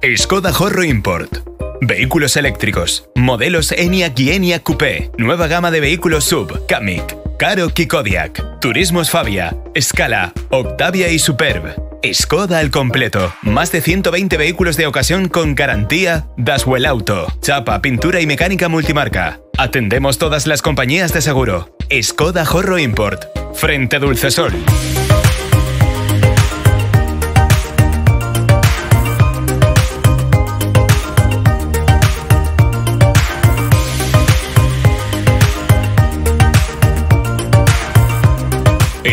Skoda Horro Import. Vehículos eléctricos. Modelos Enyaq y Enyaq Coupé. Nueva gama de vehículos SUV. Kamiq, Karoq y Kodiaq. Turismos Fabia, Scala, Octavia y Superb. Skoda al completo. Más de 120 vehículos de ocasión con garantía Daswell Auto. Chapa, pintura y mecánica multimarca. Atendemos todas las compañías de seguro. Skoda Horro Import. Frente Dulcesol.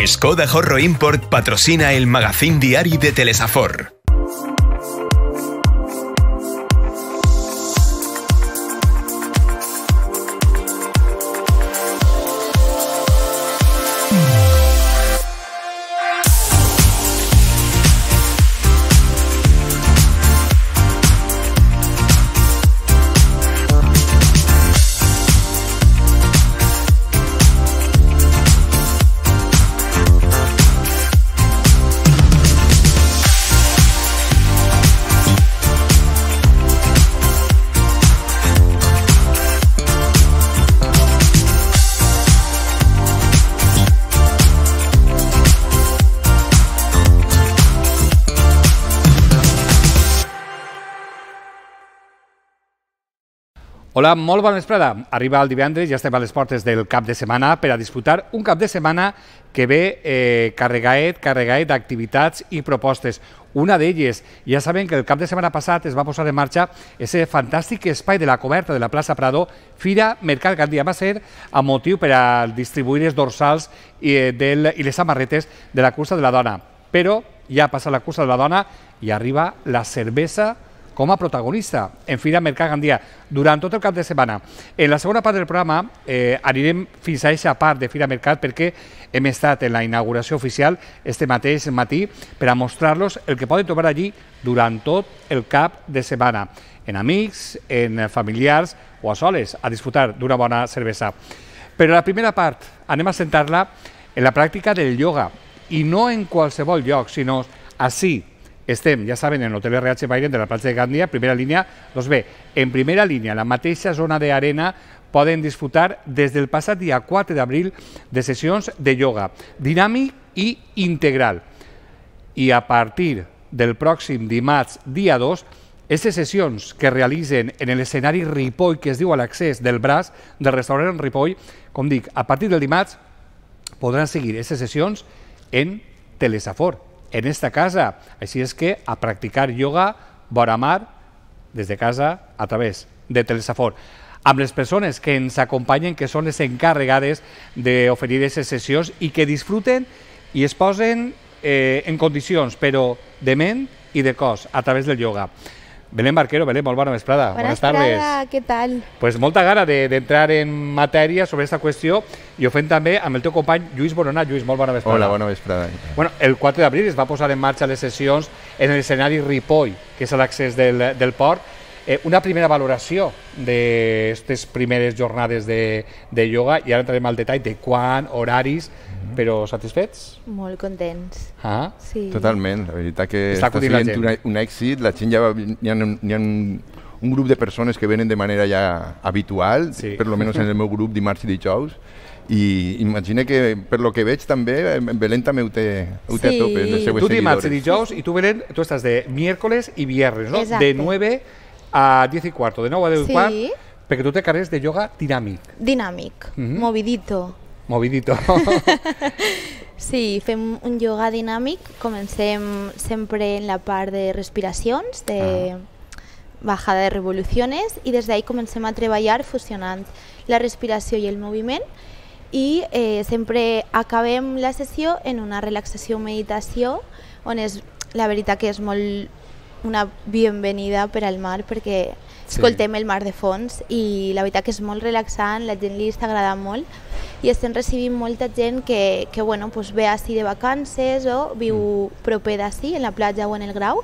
Skoda Horro Import patrocina el magazín diari de Telesafor. Hola, molt bona vesprada. Arriba el divendres, ja estem a les portes del cap de setmana per a disfrutar un cap de setmana que ve carregaet d'activitats i propostes. Una d'elles, ja saben que el cap de setmana passat es va posar en marxa aquest fantàstic espai de la coberta de la plaça Prado, Fira Mercat Gandia. Va ser a motiu per a distribuir els dorsals i les samarretes de la cursa de la dona. Però ja ha passat la cursa de la dona i arriba la cervesa com a protagonista en Fira Mercat Gandia durant tot el cap de setmana. En la segona part del programa anirem fins a aquesta part de Fira Mercat perquè hem estat en la inauguració oficial este mateix matí per a mostrar-los el que poden trobar allí durant tot el cap de setmana, en amics, en familiars o a soles, a disfrutar d'una bona cervesa. Però la primera part anem a centrar-la en la pràctica del ioga i no en qualsevol lloc, sinó ací. Estem, ja saben, en l'Hotel RH Byron de la platja de Gandia, primera línia. Doncs bé, en primera línia, la mateixa zona d'arena, poden disfrutar des del passat dia 4 d'abril de sessions de ioga dinàmic i integral. I a partir del pròxim dimarts, dia 2, aquestes sessions que realitzen en l'escenari Ripoll, que es diu a l'accés del braç del restaurant Ripoll, com dic, a partir del dimarts podran seguir aquestes sessions en Telesafor, en esta casa. Així és que a practicar ioga vora mar des de casa a través de Telesafor. Amb les persones que ens acompanyen, que són les encarregades d'oferir aquestes sessions i que disfruten i es posen en condicions, però de ment i de cos, a través del ioga. Belén Barquero, Belén, molt bona vesprada. Buenas tardes. ¿Qué tal? Pues molta gana d'entrar en matèria sobre aquesta qüestió i ho fem també amb el teu company Lluís Boronat. Lluís, molt bona vesprada. Hola, bona vesprada. Bueno, el 4 d'abril es va posar en marxa les sessions en l'escenari Ripoll, que és a l'accés del port. Una primera valoració d'aquestes primeres jornades de ioga i ara entrarem al detall de quan, horaris, però satisfets? Molt contents. Ah? Sí. Totalment, la veritat que està sent un èxit, la gent ja hi ha un grup de persones que venen de manera ja habitual, sí. Per lo menos en el meu grup dimarts i dijous, i imagina que per lo que veig també Belén també ho té a tope en els seues seguidores. Tu dimarts i dijous i tu Belén, tu estàs de miércoles i viernes, no? Exacte. De 9 a 10 y cuarto, de 9 a 10 y cuarto, Sí. perquè tu te carregues de yoga dinàmic. Dinàmic, movidito. Movidito. Sí, fem un yoga dinàmic, comencem sempre en la part de respiracions, de bajada de revoluciones, i des d'ahí comencem a treballar fusionant la respiració i el moviment, i sempre acabem la sessió en una relaxació-meditació, on és, la veritat que és molt una bienvenida per al mar, perquè escoltem el mar de fons i la veritat que és molt relaxant, la gent li està agradant molt i estem recibint molta gent que bueno, pues ve així de vacances o viu proper d'ací, en la platja o en el Grau,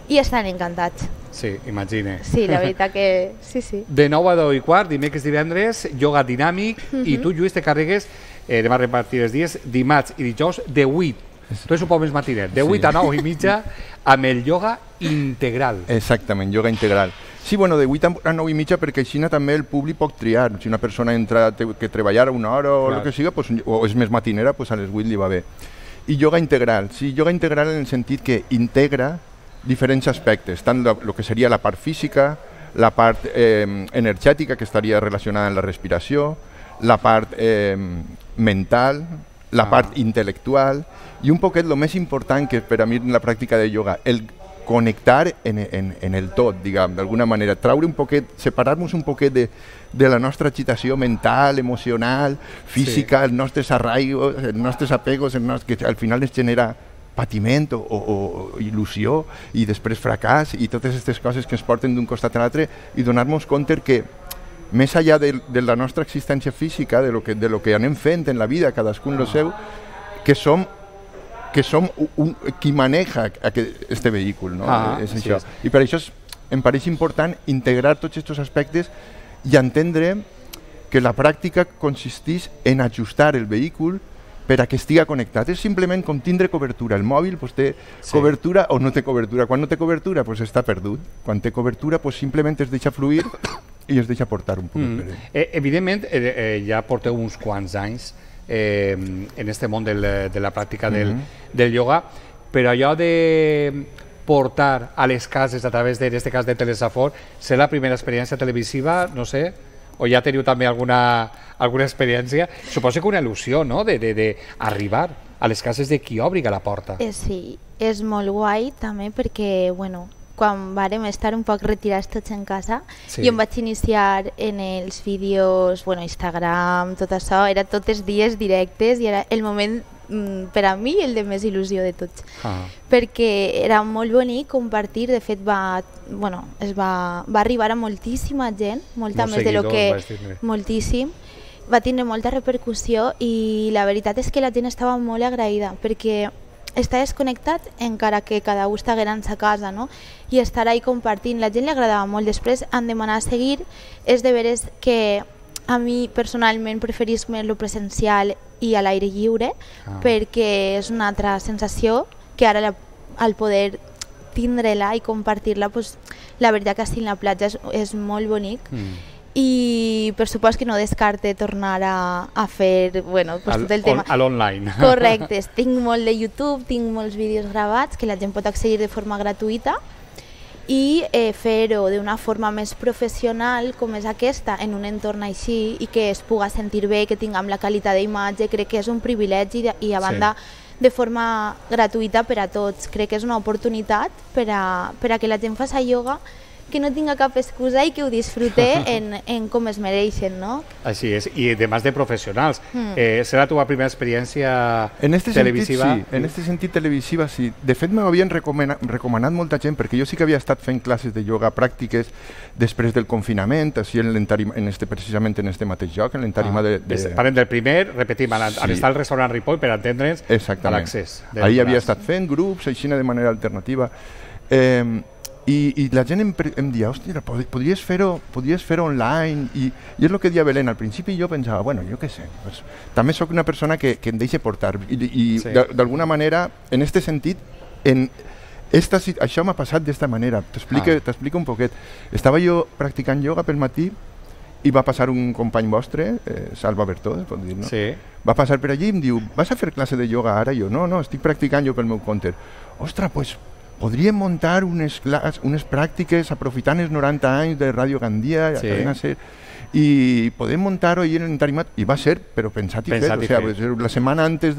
i estan encantats. Sí, imagine. Sí, la veritat que sí, sí. De 9 a 10 i quart, dimecres, divendres, yoga dinàmic, i tu, Lluís, te carregues, anem a repartir els dies, dimarts i dijous, de 8 Tu ets un poc més matiner, de 8 a 9 i mitja, amb el ioga integral. Exactament, ioga integral. Sí, bueno, de 8 a 9 i mitja perquè així també el públic pot triar. Si una persona entra que treballar una hora o el que siga, pues, o és més matinera, pues a les 8 li va bé. I ioga integral, sí, ioga integral en el sentit que integra diferents aspectes, tant el que seria la part física, la part energètica que estaria relacionada amb la respiració, la part mental, la part intel·lectual i un poquet el més important que per a mi en la pràctica de ioga, el connectar en el tot, diguem, d'alguna manera, traure un poquet, separar-nos un poquet de la nostra agitació mental, emocional, física, els nostres arraigos, els nostres apegos, que al final ens genera patiment o il·lusió i després fracàs i totes aquestes coses que ens porten d'un costat a l'altre i donar-nos compte que més enllà de la nostra existència física, de lo que anem fent en la vida, cadascun lo seu, que som qui maneja este vehicle, no? És això. I per això em pareix important integrar tots aquests aspectes i entendre que la pràctica consisteix en ajustar el vehicle per a que estigui connectat. És simplement com tindre cobertura. El mòbil pues, té cobertura o no té cobertura. Quan no té cobertura pues, està perdut. Quan té cobertura pues, simplement es deixa fluir i es deixa portar un poc per ell. Evidentment, ja porteu uns quants anys en este món de la pràctica del ioga, però allò de portar a les cases a través en este cas de Telesafor, ser la primera experiència televisiva, no sé, o ja teniu també alguna experiència? Suposo que una il·lusió, no?, d'arribar a les cases de qui obri la porta. Sí, és molt guai també perquè, bueno, quan vàrem estar un poc retirats tots en casa, jo em vaig iniciar en els vídeos, bueno, Instagram, tot això, era tots els dies directes i era el moment per a mi el de més il·lusió de tots, perquè era molt bonic compartir, de fet va arribar a moltíssima gent, molta més de lo que... moltíssim, va tindre molta repercussió i la veritat és que la gent estava molt agraïda perquè està desconnectat encara que cada un estigués a sa casa, no? I estar ahí compartint, la gent li agradava molt. Després han demanat seguir, és de veres que a mi personalment preferís més lo presencial i a l'aire lliure perquè és una altra sensació que ara al poder tindre-la i compartir-la, pues, la veritat que així en la platja és molt bonic. I per supost que no descarte tornar a fer tot el tema a l'online. Correcte, tinc molt de YouTube, tinc molts vídeos gravats que la gent pot accedir de forma gratuïta i fer-ho d'una forma més professional com és aquesta, en un entorn així i que es puga sentir bé, que tinguem la qualitat d'imatge, crec que és un privilegi i a banda de forma gratuïta per a tots. Crec que és una oportunitat per a que la gent faci ioga que no tinga cap excusa i que ho disfrute en com es mereixen, no? Així és, i además de professionals. Serà la teva primera experiència televisiva? Sí, en aquest sentit televisiva sí. De fet, m'ho havien recomanat molta gent, perquè jo sí que havia estat fent classes de ioga pràctiques després del confinament, així precisament en este mateix lloc, en l'entarima de... Parlem del primer, repetim, al estar al restaurant Ripoll per entendre'ns l'accés. Ahir havia estat fent grups, així de manera alternativa. I la gent em dia, hòstia, podries fer-ho online, i és el que deia Belén, al principi jo pensava, bueno, jo què sé, també sóc una persona que em deixa portar, i d'alguna manera, en aquest sentit, això m'ha passat d'esta manera, t'explico un poquet. Estava jo practicant ioga pel matí i va passar un company vostre, Salva Bertó, es pot dir, no? Sí. Va passar per allí i em diu, vas a fer classe de ioga ara? Jo, no, estic practicant jo pel meu compte. Ostres, doncs podríem muntar unes pràctiques aprofitant els 90 anys de Ràdio Gandia i podem muntar-ho ahir en l'entarimat, i va ser, però pensat i fet, o sigui, la setmana antes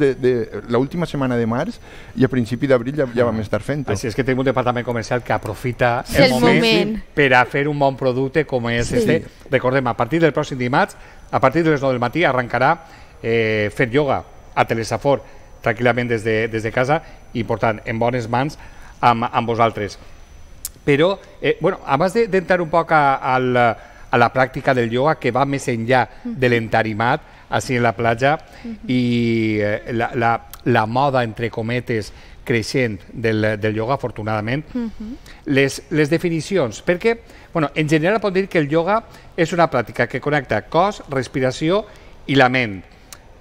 l'última setmana de març i a principi d'abril ja vam estar fent-ho. Així és que tenim un departament comercial que aprofita el moment per a fer un bon producte com és este. Recordem, a partir del pròxim dimarts, a partir de les 9 del matí, arrencarà fer ioga a Telesafor tranquil·lament des de casa i portant en bones mans amb vosaltres. Però, abans d'entrar un poc a la pràctica del ioga, que va més enllà de l'entarimat, així en la platja, i la moda, entre cometes, creixent del ioga, afortunadament, les definicions, perquè, en general pot dir que el ioga és una pràctica que connecta cos, respiració i la ment.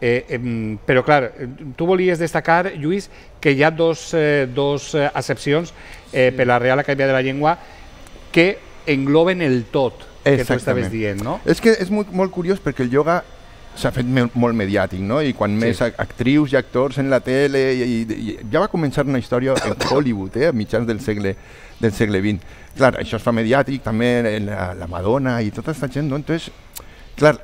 Però, clar, tu volies destacar, Lluís, que hi ha dos accepcions per la Real Acadèmia de la Llengua que engloben el tot que tu estaves dient, no? És que és molt curiós perquè el ioga s'ha fet molt mediàtic, no? I quan més actrius i actors en la tele... I ja va començar una història en Hollywood, a mitjans del segle XX. Clar, això es fa mediàtic, també la Madonna i tota aquesta gent, no? Entonces, clar,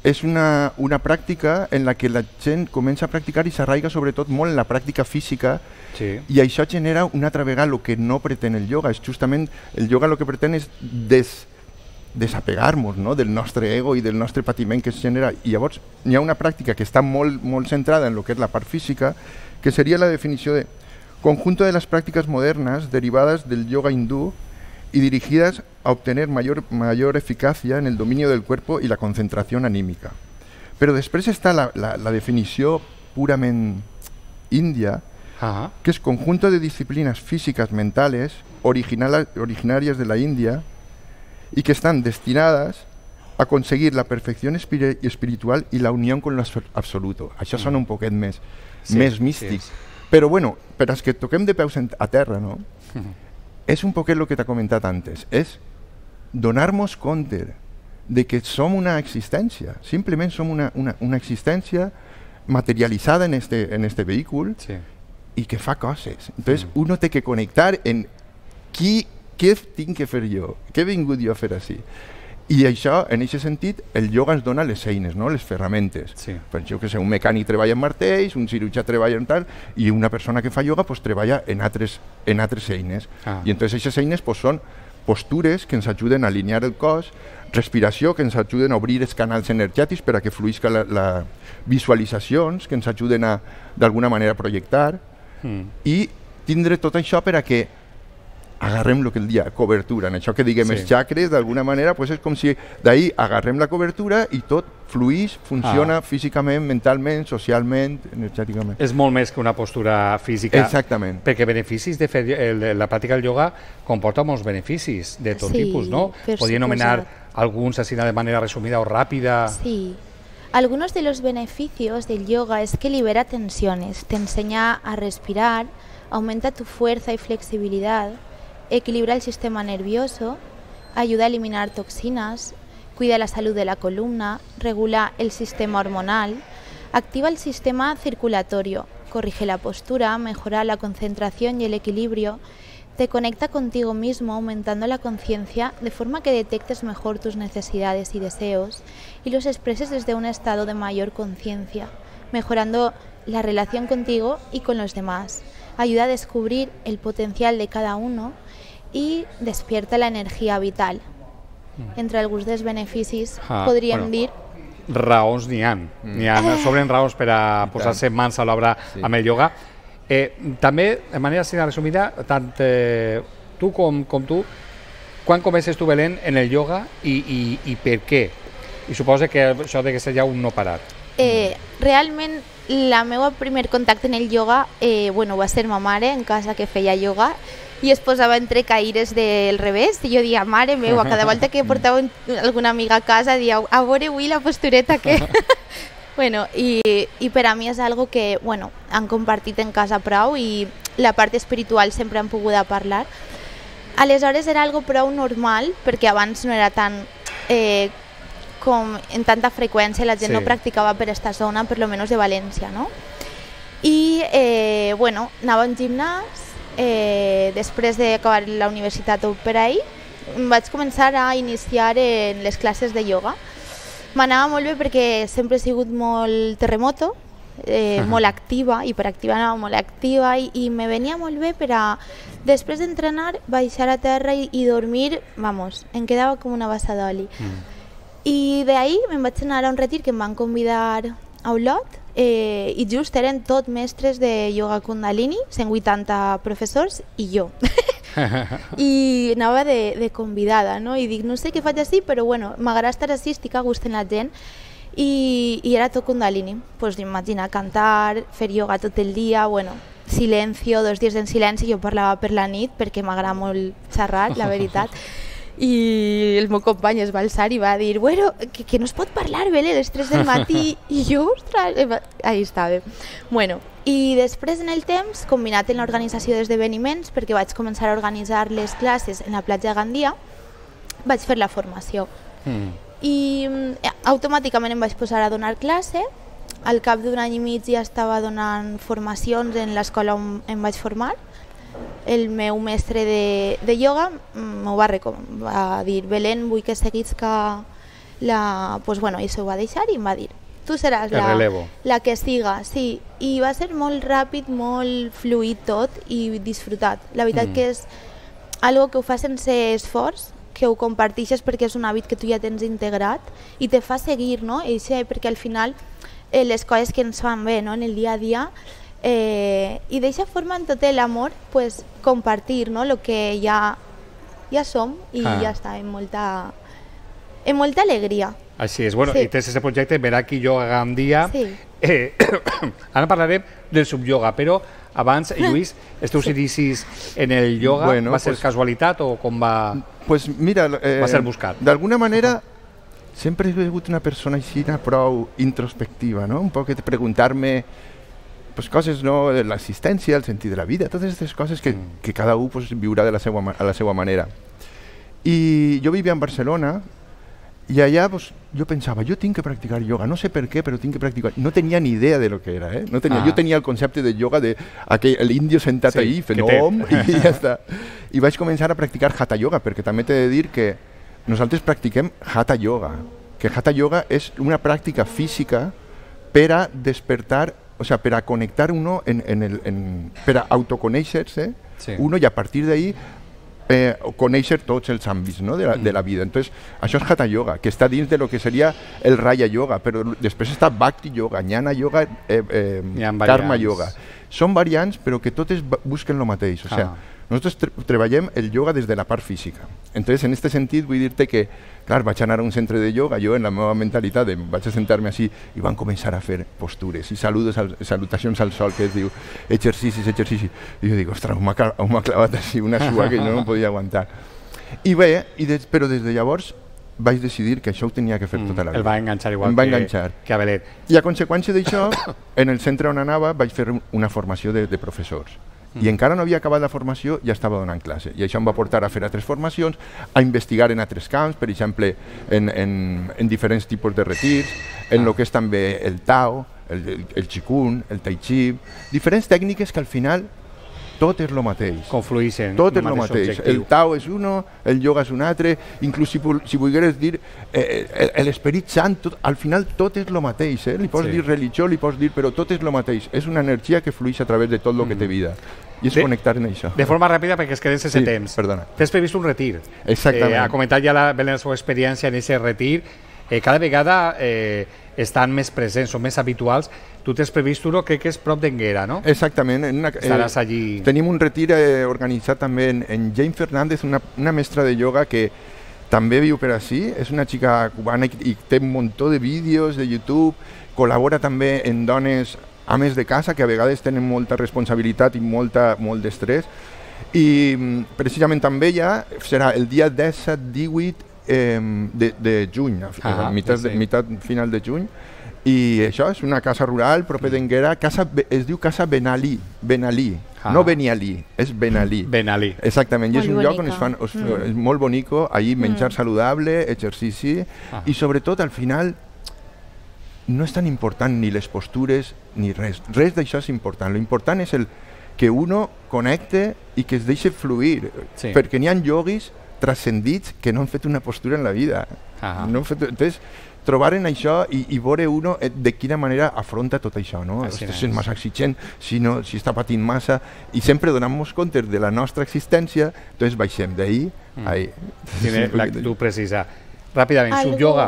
és una pràctica en la que la gent comença a practicar i s'arraiga sobretot molt en la pràctica física i això genera una altra vegada el que no pretén el ioga. És justament, el ioga el que pretén és desapegar-nos, no? Del nostre ego i del nostre patiment que es genera. I llavors hi ha una pràctica que està molt centrada en el que és la part física, que seria la definició de conjunto de las prácticas modernas derivadas del yoga hindú y dirigidas a obtener mayor eficacia en el dominio del cuerpo y la concentración anímica. Però després està la definició purament índia, que es conjunto de disciplinas físicas mentales originarias de la India y que están destinadas a conseguir la perfección espiritual y la unión con lo absoluto. Això sona un poquet més místic. Però bueno, per als que toquem de peus a terra, no? És un poquet el que t'ha comentat antes. És donar-nos compte de que som una existència. Simplement som una existència materialitzada en este vehícul i que fa coses. Entonces, uno té que connectar en què tinc que fer jo? Què he vingut jo a fer així? I això, en aquest sentit, el ioga ens dona les eines, no? Les ferramentes. Per jo que sé, un mecànic treballa en martells, un cirurgià treballa en tal, i una persona que fa ioga pues, treballa en altres eines. I entonces aquestes eines pues, són postures que ens ajuden a alinear el cos, respiració, que ens ajuden a obrir els canals energètics per a que fluïsca visualitzacions, que ens ajuden a, d'alguna manera, a projectar, i tindre tot això per a que agarrem el que el dia, cobertura. En això que diguem els xacres, d'alguna manera, pues és com si d'ahir agarrem la cobertura i tot fluïx, funciona físicament, mentalment, socialment, energèticament. És molt més que una postura física. Exactament. Perquè beneficis de fer la pràctica del ioga comporta molts beneficis de tot tipus, no? Podria anomenar alguns así de manera resumida o rápida. Sí. Algunos de los beneficios del yoga es que libera tensiones, te enseña a respirar, aumenta tu fuerza y flexibilidad, equilibra el sistema nervioso, ayuda a eliminar toxinas, cuida la salud de la columna, regula el sistema hormonal, activa el sistema circulatorio, corrige la postura, mejora la concentración y el equilibrio, te conecta contigo mismo aumentando la conciencia de forma que detectes mejor tus necesidades y deseos y los expreses desde un estado de mayor conciencia, mejorando la relación contigo y con los demás. Ayuda a descubrir el potencial de cada uno i despierta la energia vital. Entre alguns dels beneficis podríem dir... Raons n'hi ha. Sobren raons per a posar-se mans a l'obra amb el ioga. També, de manera així resumida, tant tu com tu, quan comences tu, Belén, en el ioga i per què? I suposo que això de que ser ja un no parar. Realment, el meu primer contacte en el ioga va ser ma mare en casa que feia ioga i es posava entre caires del revés i jo dia, mare meva, cada volta que portava alguna amiga a casa dia, a veure avui la postureta que... I per a mi és algo que han compartit en casa prou i la part espiritual sempre han pogut parlar. Aleshores era algo prou normal perquè abans no era tan... com en tanta freqüència, la gent no practicava per esta zona, per lo menos de València, no? I, anava a un gimnàs, després d'acabar la universitat o per ahí, vaig començar a iniciar en les classes de ioga. M'anava molt bé perquè sempre he sigut molt terremoto, molt activa, hiperactiva, anava molt activa i me venia molt bé per a, després d'entrenar, baixar a terra i dormir, em quedava com una bassa d'oli. I d'ahir me'n vaig anar a un retir que em van convidar a Olot i just eren tot mestres de yoga kundalini, 180 professors i jo. I anava de convidada, no? I dic, no sé què faig així, però m'agrada estar així, estic a gust en la gent. I era tot kundalini. Pues imagina, cantar, fer yoga tot el dia, silencio, 2 dies en silenci, jo parlava per la nit perquè m'agrada molt xerrar, la veritat. i el meu company es va alçar i va dir bueno, que no es pot parlar, Belén, a les 3 del matí, i jo, ostres, ahí estava. Bueno, i després en el temps, combinat en l'organització d'esdeveniments, perquè vaig començar a organitzar les classes en la platja de Gandia, vaig fer la formació. I automàticament em vaig posar a donar classe. Al cap d'un any i mig ja estava donant formacions en l'escola on em vaig formar. El meu mestre de ioga m'ho va dir Belén, vull que seguisca la... Pues bueno, i s'ho va deixar i em va dir tu seràs la que siga, sí. I va ser molt ràpid, molt fluid tot i disfrutat. La veritat que és algo que ho fa sense esforç, que ho comparteixes perquè és un hàbit que tu ja tens integrat i te fa seguir, no? I sí, perquè al final les coses que ens fan bé, no? En el dia a dia, i d'eixa forma en tot l'amor pues, compartir, no? Lo que ja som i ja està, amb molta alegria. Així és, bueno, i tens aquest projecte Meraki Yoga Gandia. Ara parlarem del subyoga, però abans, Lluís, els teus inicis en el yoga va ser casualitat o com va... Pues mira, va ser buscat. D'alguna manera sempre he sigut una persona així prou introspectiva, no? Un poc de preguntar-me pues, coses, no? De l'existència, el sentit de la vida, totes aquestes coses que cada un pues, viurà a la seva manera. I jo vivia en Barcelona i allà pues, jo pensava, jo tinc que practicar yoga, no sé per què, però tinc que practicar. No tenia ni idea de lo que era, no tenia, jo tenia el concepte de yoga de l'índio sentat ahí fent om i ja està. I vaig començar a practicar hatha yoga, perquè també t'he de dir que nosaltres practiquem hatha yoga, que hatha yoga és una pràctica física per a despertar, o sea, per a connectar uno, per a autoconèixer-se uno i a partir d'ahí conèixer tots els àmbits, no? de la vida. Entonces, això és hatha yoga, que està dins de lo que seria el raya yoga, però després està bhakti yoga, jnana yoga, karma yoga. Són variants, però que totes busquen el mateix. O sea, nosaltres treballem el yoga des de la part física. Entonces, en este sentit, vull dir-te que, clar, vaig anar a un centre de yoga, jo en la meva mentalitat vaig a sentar-me així i van començar a fer postures i salutacions al sol, que es diu exercicis. I jo dic, ostres, m'ha clavat així una sua que jo no podia aguantar. I bé, però des de llavors vaig decidir que això ho tenia que fer tota la vida. El va enganxar igual que a Belet. I a conseqüència d'això, en el centre on anava vaig fer una formació de professors. I encara no havia acabat la formació i ja estava donant classe. I això em va portar a fer altres formacions, a investigar en altres camps, per exemple, en diferents tipus de retirs, en el que és també el Tao, el Qigong, el Tai Chi, diferents tècniques que al final tot és el mateix. Confluïxen. Tot és el mateix. El Tao és uno, el yoga és un altre, inclús si volgueres dir l'Esperit Sant, al final tot és el mateix. Li pots dir religió, li pots dir, però tot és el mateix. És una energia que flueix a través de tot el que té vida. I és connectar en això. De forma ràpida, perquè es queden sense temps. Perdona. Tens previst un retir. Exactament. Ha comentat ja la seva experiència en aquest retir. Cada vegada estan més presents, són més habituals. Tu t'has previst uno, crec que és prop d'Enguera, no? Exactament. Estaràs allí. Tenim un retir organitzat també en Jane Fernández, una mestra de yoga que també viu per així. És una xica cubana i té un munt de vídeos de YouTube. Col·labora també en dones ames de casa que a vegades tenen molta responsabilitat i molt d'estrès. I precisament també ja serà el dia 17-18 de juny, a meitat final de juny, i això és una casa rural proper d'Enguera, es diu Casa Benalí, no Benialí, és Benalí. Benalí. Exactament, i és un lloc on es fan, és molt bonico, allí menjar saludable, exercici, i sobretot al final no és tan important ni les postures ni res d'això és important, l'important és que uno connecte i que es deixi fluir, perquè n'hi ha yoguis transcendits que no han fet una postura en la vida. Entonces, trobar en això i veure uno de quina manera afronta tot això, no? Si és massa exigent, si està patint massa, i sempre donant-nos compte de la nostra existència, doncs baixem d'ahir a ahir. Tiene l'actitud precisa. Ràpidament, subyoga.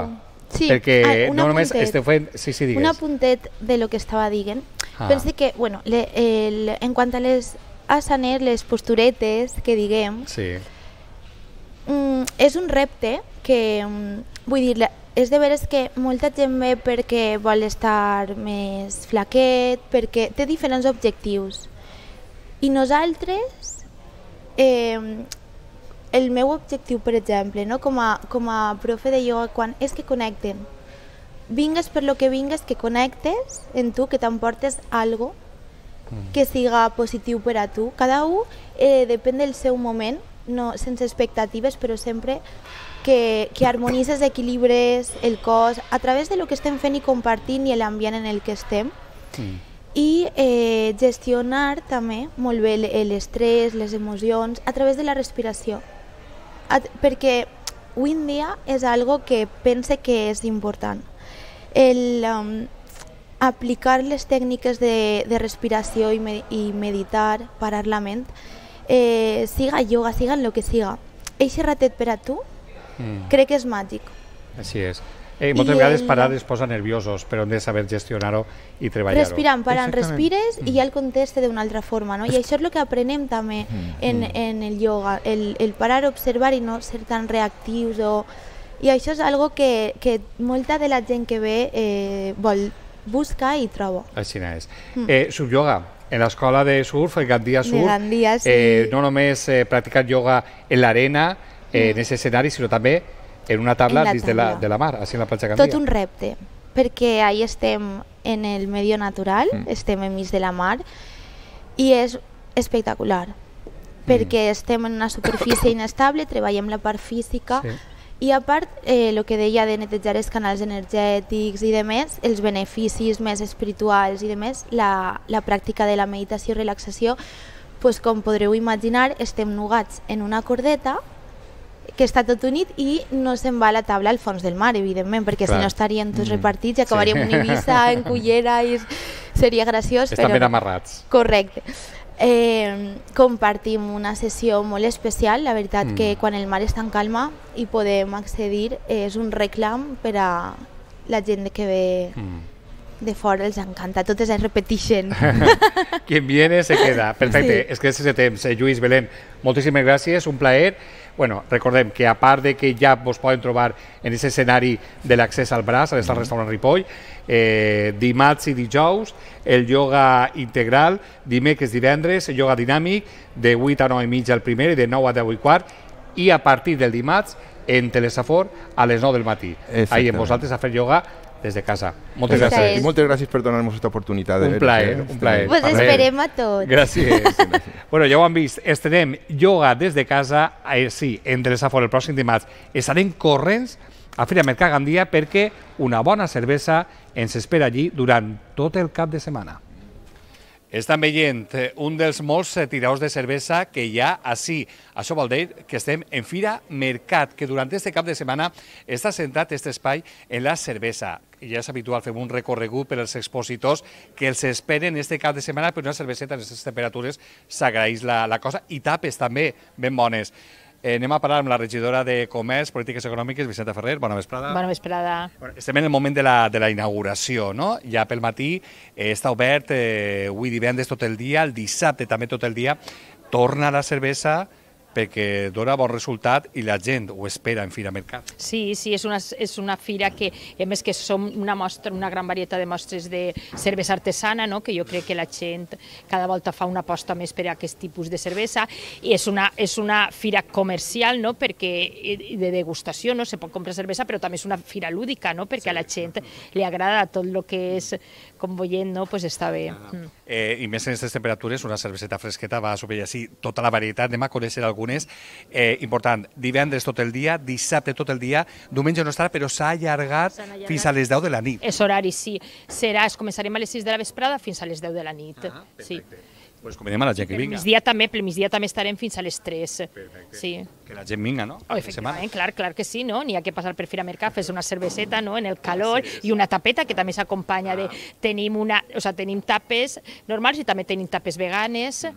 Perquè no només esteu fent... Sí, digues. Un apuntet de lo que estava dient. Pense que, bueno, en quant a les asanes, les posturetes que diguem, és un repte que, vull dir, és de veres que molta gent ve perquè vol estar més flaquet, perquè té diferents objectius. I nosaltres el meu objectiu, per exemple, no? com a profe de ioga, quan és que connecten. Vingues per lo que vingues, que connectes en tu, que t'emportes algo que siga positiu per a tu. Cada un depèn del seu moment, no, sense expectatives, però sempre que harmonitzes, equilibres el cos a través de lo que estem fent i compartint i l'ambient en el que estem. I gestionar també molt bé l'estrès, les emocions, a través de la respiració. Perquè avui en dia és algo que pense que és important. Aplicar les tècniques de respiració i meditar, parar la ment, siga yoga, siga en lo que siga. Eixe ratet per a tu, crec que és màgic. Així és. Moltes vegades parar es posa nerviosos, però hem de saber gestionar-ho i treballar-ho. Respirant, parant, respires i ja el conteste d'una altra forma, no? I això és el que aprenem també en el yoga, el parar, observar i no ser tan reactius. I això és algo que molta de la gent que ve vol buscar i troba. Així és. Surf yoga. En l'escola de surf, el Gandia Surf, Gandia, sí. No només practicar yoga en l'arena, en aquest escenari, sinó també en una taula dins de la mar, així en la platja Gandia. Tot un repte, perquè ahí estem en el medi natural, estem enmig de la mar, i és espectacular, perquè estem en una superfície inestable, treballem la part física, i a part, el que deia de netejar els canals energètics i demés, els beneficis més espirituals i demés, la pràctica de la meditació i relaxació, doncs, com podreu imaginar, estem nugats en una cordeta que està tot unit i no se'n va a la taula al fons del mar, evidentment, perquè si no estaríem tots repartits i acabaríem en Eivissa, en Cullera, i seria graciós. Estan ben amarrats. Correcte. Compartim una sessió molt especial, la veritat que quan el mar està en calma i podem accedir és un reclam per a la gent que ve de fora, els encanta, totes es repeteixen. Quien viene se queda. Perfecte, és que és ese temps. Lluís, Belén, moltíssimes gràcies, un plaer. Bueno, recordem que a part de que ja vos poden trobar en aquest escenari de l'accés al braç, a l'estat restaurant Ripoll, dimarts i dijous, el yoga integral, dimecres, divendres, el yoga dinàmic, de 8 a 9 i mitja el primer i de 9 a 10 i quart, i a partir del dimarts, en Telesafor, a les 9 del matí. Ahí amb vosaltres a fer yoga des de casa. Moltes gràcies. I moltes gràcies per donar-nos aquesta oportunitat. Un plaer, un plaer. Pues esperem a tots. Gràcies. Bueno, ja ho han vist, estrenem yoga des de casa, sí, en Telesafor el pròxim dimarts. Estarem corrents a Fira Mercat Gandia perquè una bona cervesa ens espera allí durant tot el cap de setmana. Estan veient un dels molts tiradors de cervesa que hi ha així. Això vol dir que estem en Fira Mercat, que durant este cap de setmana està centrat aquest espai en la cervesa. I ja és habitual, fem un recorregut per als expositors que els esperen este cap de setmana per una cerveseta en aquestes temperatures s'agraeix la cosa, i tapes també ben bones. Anem a parlar amb la regidora de Comerç, Polítiques Econòmiques, Vicenta Ferrer. Bona vesprada. Bona vesprada. Estem en el moment de la inauguració, no? Ja pel matí està obert, avui divendres tot el dia, el dissabte també tot el dia. Torna la cervesa perquè dona bon resultat i la gent ho espera en Fira Mercat. Sí, és una fira que, a més que som una gran varietat de mostres de cervesa artesana, no? Que jo crec que la gent cada volta fa una aposta més per a aquest tipus de cervesa, i és una fira comercial, no? Perquè de degustació, no? Se pot comprar cervesa, però també és una fira lúdica, no? Perquè a la gent li agrada tot el que és, com veient, no? Pues està bé. I més en aquestes temperatures, una cerveseta fresqueta va a sobreviure així tota la varietat. Anem a conèixer algunes. Important, divendres tot el dia, dissabte tot el dia, diumenge no estarà, però s'ha allargat fins a les 10 de la nit. És horari, sí. Començarem a les 6 de la vesprada fins a les 10 de la nit. Perfecte. Pues convidem a la gent que vinga. Per migdia també estarem fins a les 3. Perfecte. Sí. Que la gent vinga, no? Efectivament, clar que sí, no? N'hi ha que passar per Fira Mercat, fes una cerveseta, no? En el calor, i una tapeta que també s'acompanya de... Tenim tapes normals i també tenim tapes veganes.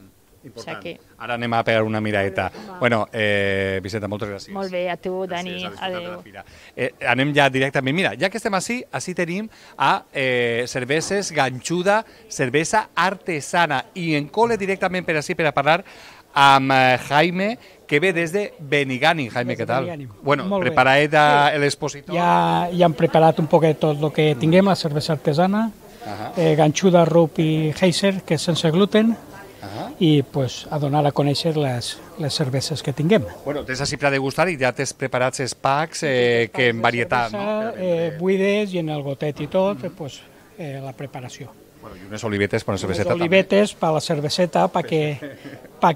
Important. Ara anem a pegar una miradeta. Bueno, Vicenta, moltes gràcies. Molt bé, a tu, Dani. Adéu. Anem ja directament. Mira, ja que estem així tenim a Cerveses Ganxuda, cervesa artesana. I en cole directament per així per a parlar amb Jaime, que ve des de Benigànim. Jaime, què tal? Bueno, preparat l'expositor? Ja hem preparat un poquet tot el que tinguem, la cervesa artesana, Ganxuda, Rup i Heiser, que és sense gluten, i pues, a donar a conèixer les cerveses que tinguem. Bueno, tens així per a degustar i ja tens preparats els packs que en varietat, no? Buides i en el gotet i tot, pues, la preparació. Bueno, y unas olivetes para la cerveceta también. Olivetes para la cerveceta, para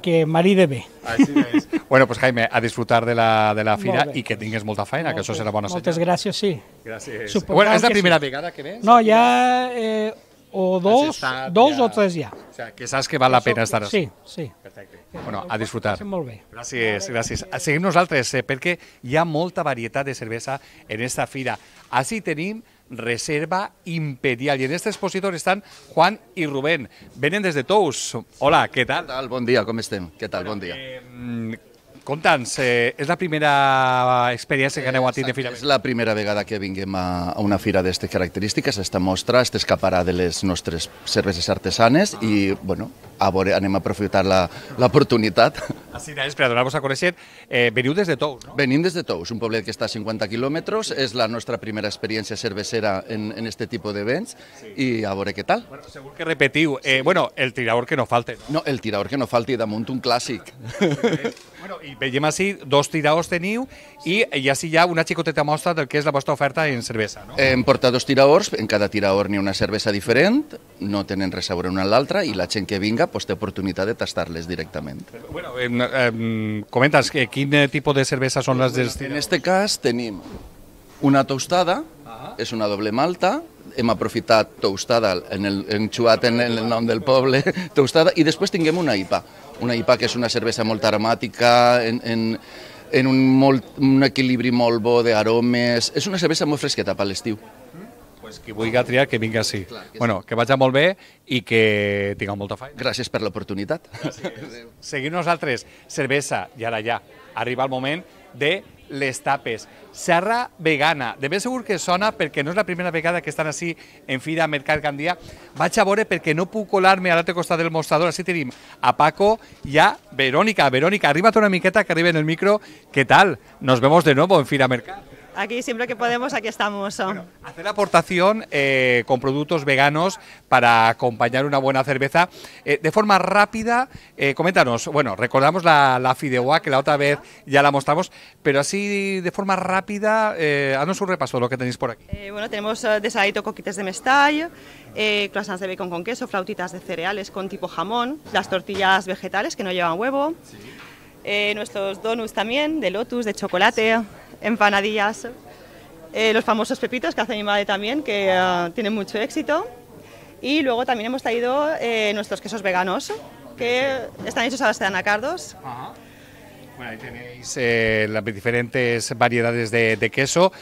que maride bé. Así es. Bueno, pues Jaime, a disfrutar de la fira y que tingues molta feina, que això serà bona senyal. Moltes gràcies, sí. Gràcies. Bueno, és la primera vegada que ves? No, ja o dos o tres ja. O sea, que saps que val la pena estar així. Sí. Perfecte. Bueno, a disfrutar. Molt bé. Gràcies, gràcies. Seguim nosaltres, perquè hi ha molta varietat de cervesa en esta fira. Així tenim Reserva Imperial. Y en este expositor están Juan y Rubén. Vienen desde Tous. Hola, ¿qué tal? ¿Qué tal? Bon dia, com estem? Què tal? Bon dia. Conta'ns, és la primera experiència que aneu a tindre de fira? És la primera vegada que vinguem a una fira d'aquestes característiques, esta mostra, este escaparà de les nostres cerveses artesanes i, bueno, a veure, anem a aprofitar l'oportunitat. Així és, per a donar-vos a conèixer, veniu des de Tous, no? Venim des de Tous, un poblet que està a 50 quilòmetres, és la nostra primera experiència cervecera en este tipus d'events i a veure què tal. Bueno, segur que repetiu. Bueno, el tirador que no falte. No, el tirador que no falti, damunt un clàssic. Bueno, i veiem així, dos tiradors teniu i així hi ha una xicoteta mostra del que és la vostra oferta en cervesa, no? Hem portat dos tiradors, en cada tirador n'hi ha una cervesa diferent, no tenen res a veure una amb l'altra i la gent que vinga té oportunitat de tastar-les directament. Bueno, comenta'ns, quin tipus de cervesa són les dels tiradors? En este cas tenim una tostada, és una doble malta, hem aprofitat tostada, enxuat en el nom del poble, tostada, i després tinguem una IPA. Una IPA que és una cervesa molt aromàtica, en un equilibri molt bo d'aromes. És una cervesa molt fresqueta per l'estiu. Pues qui vulgui triar, que vingui així. Bueno, que vagi molt bé i que tingueu molta feina. Gràcies per l'oportunitat. Seguim nosaltres, cervesa, i ara ja arriba el moment de les tapes. Serra vegana. De ben segur que sona perquè no és la primera vegada que estan així en Fira Mercat Gandia. Vaig a veure perquè no puc colar-me a l'altre costat del mostrador. Així tenim a Paco i a Verónica. Verónica, arriba't una miqueta que arriba en el micro. ¿Qué tal? Nos vemos de nuevo en Fira Mercat. Aquí siempre que podemos, aquí estamos. Bueno, hacer aportación con productos veganos para acompañar una buena cerveza. De forma rápida, coméntanos, bueno, recordamos la fideuá, que la otra vez ya la mostramos, pero así de forma rápida, haznos un repaso de lo que tenéis por aquí. Bueno, tenemos desaladito coquites de mestall, croissants de bacon con queso, flautitas de cereales con tipo jamón, las tortillas vegetales que no llevan huevo, nuestros donuts también, de lotus, de chocolate, empanadillas, los famosos pepitos que hace mi madre también, que tienen mucho éxito. Y luego también hemos traído nuestros quesos veganos, que están hechos a base de anacardos. Ajá. Bueno, ahí tenéis las diferentes variedades de queso.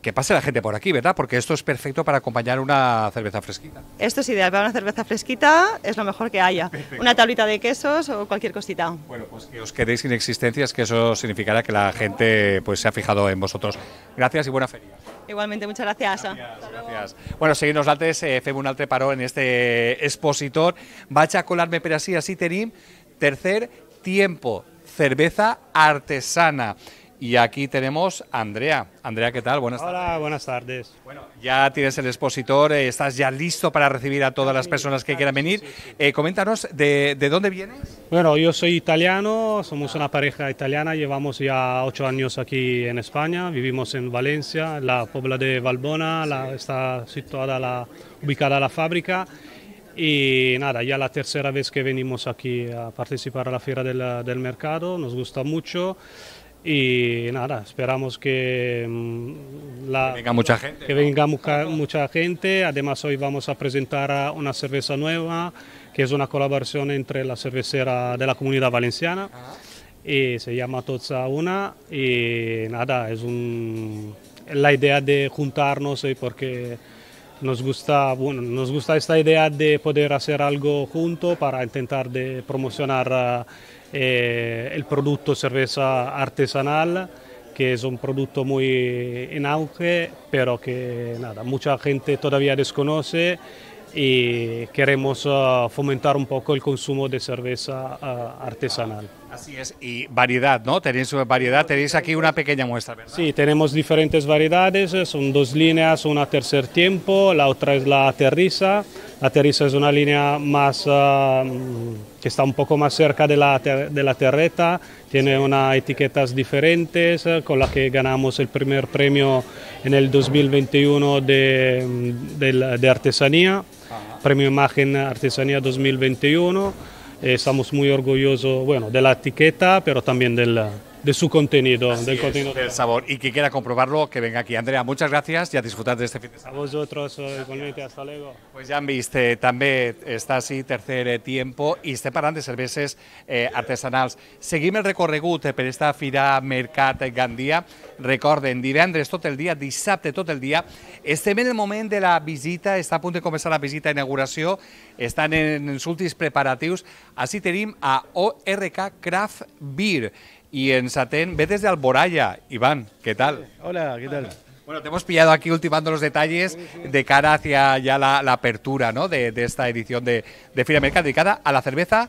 Que pase la gente por aquí, ¿verdad? Porque esto es perfecto para acompañar una cerveza fresquita. Esto es ideal para una cerveza fresquita, es lo mejor que haya. Perfecto. Una tablita de quesos o cualquier cosita. Bueno, pues que os quedéis sin existencias, que eso significará que la gente pues se ha fijado en vosotros. Gracias y buena feria. Igualmente, muchas gracias. Gracias. Bueno, seguim nosaltres, fem un altre paró en este expositor. Vaig a colar-me per així tenim tercer tiempo, cerveza artesana. Y aquí tenemos a Andrea. Andrea, ¿qué tal? Buenas tardes. Hola, buenas tardes. Bueno, ya tienes el expositor, estás ya listo para recibir a todas las personas que quieran venir. Coméntanos, ¿de dónde vienes? Bueno, yo soy italiano, somos una pareja italiana, llevamos ya 8 años aquí en España, vivimos en Valencia, la Pobla de Valbona, está ubicada la fábrica. Y nada, ya la tercera vez que venimos aquí a participar a la Fiera del Mercado, nos gusta mucho. Y nada, esperamos que venga mucha gente. Que venga mucha gente. Además, hoy vamos a presentar una cerveza nueva, que es una colaboración entre la cervecera de la Comunidad Valenciana, y se llama Tozza Una. Y nada, es la idea de juntarnos, porque nos gusta esta idea de poder hacer algo junto para intentar de promocionar el producto cerveza artesanal, que es un producto muy en auge, pero que nada, mucha gente todavía desconoce, y queremos fomentar un poco el consumo de cerveza artesanal. Así es, y variedad, ¿no? Tenéis variedad, tenéis aquí una pequeña muestra, ¿verdad? Sí, tenemos diferentes variedades, son 2 líneas, una tercer tiempo, la otra es la terriza. La terriza es una línea más que está un poco más cerca de la terreta, tiene unas etiquetas diferentes, con la que ganamos el primer premio en el 2021 de artesanía, premio Imagen Artesanía 2021. Estamos muy orgullosos, bueno, de la etiqueta, pero también de su contenido, del sabor. Y quien quiera comprobarlo, que venga aquí. Andrea, muchas gracias y a disfrutar de este fin de semana. A vosotros, igualmente, hasta luego. Pues ja han vist, també està així tercer tiempo i estem parlant de cerveses artesanals. Seguim el recorregut per esta Fira Mercat Gandia. Recorden, divendres tot el dia, dissabte tot el dia. Estem en el moment de la visita, està a punt de començar la visita d'inauguració, estan en els últims preparatius. Així tenim a ORK Craft Beer y en Satén, ve desde Alboraya. Iván, ¿qué tal? Hola, ¿qué tal? Bueno, te hemos pillado aquí ultimando los detalles de cara hacia ya la apertura, ¿no? de esta edición de Fira Mercat dedicada a la cerveza.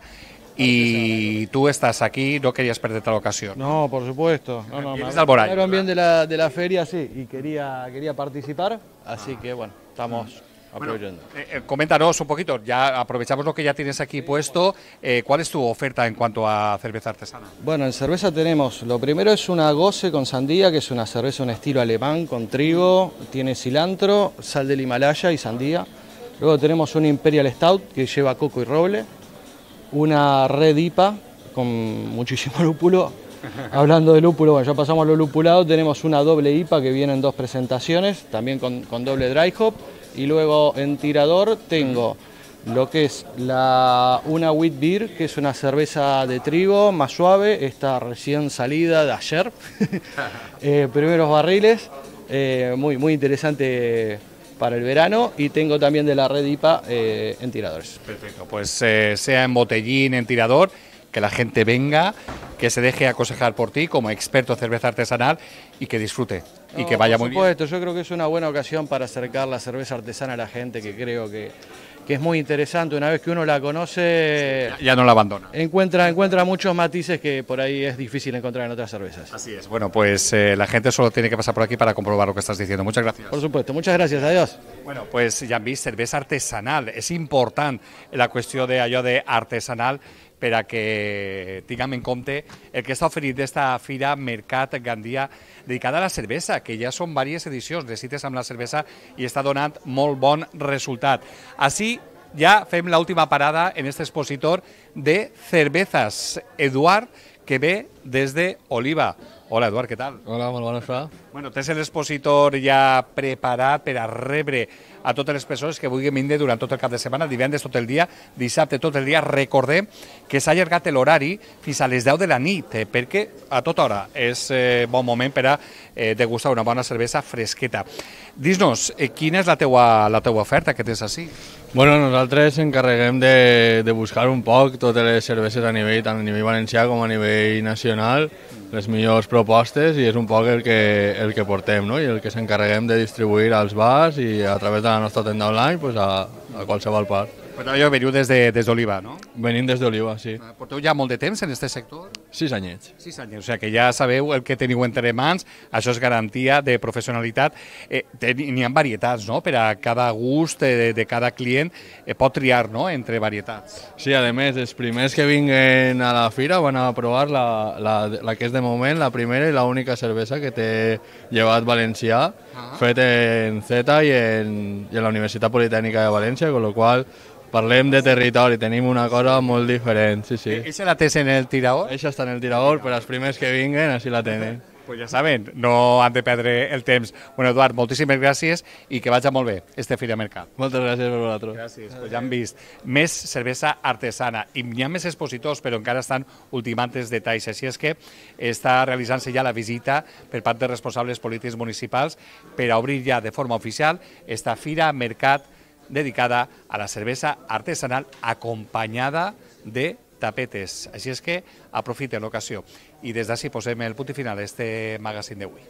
Y tú estás aquí, no querías perderte la ocasión. No, por supuesto. Vienes de Alboraya. Me bien de la feria, sí, y quería participar, así que bueno, estamos aprovechando. Bueno, coméntanos un poquito, ya aprovechamos lo que ya tienes aquí puesto. ¿Cuál es tu oferta en cuanto a cerveza artesana? Bueno, en cerveza tenemos, lo primero es una Gose con sandía, que es una cerveza un estilo alemán, con trigo, tiene cilantro, sal del Himalaya y sandía. Luego tenemos una Imperial Stout, que lleva coco y roble. Una Red IPA, con muchísimo lúpulo. Hablando de lúpulo, bueno, ya pasamos a lo lupulado, tenemos una doble IPA que viene en 2 presentaciones, también con doble dry hop. Y luego en tirador tengo lo que es una Wheat Beer, que es una cerveza de trigo más suave, está recién salida de ayer, primeros barriles, muy interesante para el verano, y tengo también de la Red IPA en tiradores. Perfecto, pues sea en botellín, en tirador, que la gente venga, que se deje aconsejar por ti como experto en cerveza artesanal y que disfrute y que vaya muy bien. Por supuesto, yo creo que es una buena ocasión para acercar la cerveza artesana a la gente, que creo que es muy interesante. Una vez que uno la conoce, ya no la abandona. Encuentra muchos matices que por ahí es difícil encontrar en otras cervezas. Así es. Bueno, pues la gente solo tiene que pasar por aquí para comprobar lo que estás diciendo. Muchas gracias. Por supuesto, muchas gracias, adiós. Bueno, pues ja han vist, cervesa artesanal. És important la qüestió d'allò d'artesanal per a que tinguem en compte el que està oferint d'esta Fira Mercat Gandia dedicada a la cervesa, que ja són diverses edicions de cites amb la cervesa i està donant molt bon resultat. Així ja fem l'última parada en este expositor de cervezas. Eduard, que ve des d'Oliva. Hola, Eduard, què tal? Hola, molt bona tarda. Bueno, tens l'expositor ja preparat per a rebre a totes les persones que vulguin vindre durant tot el cap de setmana, divendres tot el dia, dissabte tot el dia. Recordem que s'ha allargat l'horari fins a les 10 de la nit, perquè a tota hora és bon moment per a degustar una bona cervesa fresqueta. Dis-nos, quina és la teua oferta que tens així? Bueno, nosaltres encarreguem de buscar un poc totes les cerveses a nivell, tant a nivell valencià com a nivell nacional, les millors propostes, i és un poc el que portem, no? I el que s'encarreguem de distribuir als bars i a través de la nostra tenda online pues a qualsevol part. Però jo veniu des d'Oliva, no? Venim des d'Oliva, sí. Porteu ja molt de temps en aquest sector? 6 anyets. 6 anys, o sigui que ja sabeu el que teniu entre mans, això és garantia de professionalitat. N'hi ha varietats, no?, per a cada gust de cada client, pot triar, no?, entre varietats. Sí, a més, els primers que vinguen a la fira van a provar la que és de moment la primera i l'única cervesa que té llevat valencià, fet en Z i en la Universitat Politècnica de València, con lo qual parlem de territori, tenim una cosa molt diferent, sí, sí. Eixa la tens en el tirador? Eixa està en el tirador, per als primers que vinguen, així la tenen. Pues ja saben, no han de perdre el temps. Bueno, Eduard, moltíssimes gràcies i que vagi molt bé este Fira Mercat. Moltes gràcies per vosaltres. Gràcies. Pues ja han vist més cervesa artesana i hi ha més expositors, però encara estan ultimant els detalls. Així és que està realitzant-se ja la visita per part de responsables polítics municipals per a obrir ja de forma oficial esta Fira Mercat dedicada a la cervesa artesanal acompanyada de tapetes. Així és que aprofiten l'ocasió. I des d'ací posem el punt final a este magazine d'avui.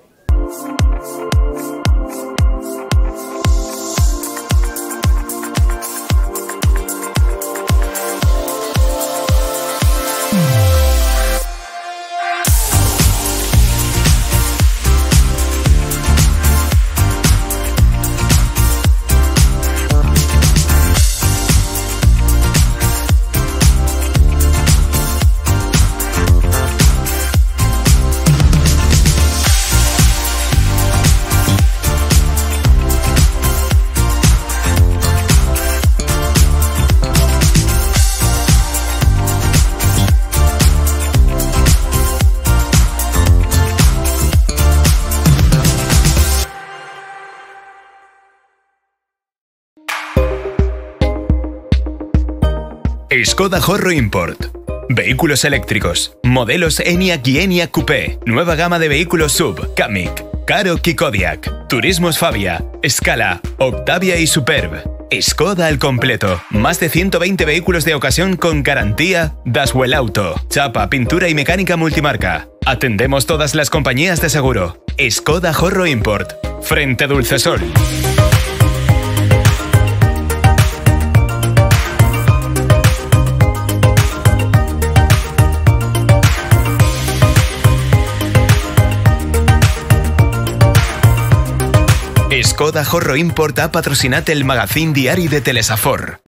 Skoda Horro Import. Vehículos eléctricos. Modelos Enyaq y Enyaq Coupé. Nueva gama de vehículos SUV. Kamiq, Karoq y Kodiaq. Turismos Fabia, Scala, Octavia y Superb. Skoda al completo. Más de 120 vehículos de ocasión con garantía Daswell Auto. Chapa, pintura y mecánica multimarca. Atendemos todas las compañías de seguro. Skoda Horro Import. Frente Dulcesol. Skoda Horro Import ha patrocinat el magazín diari de Telesafor.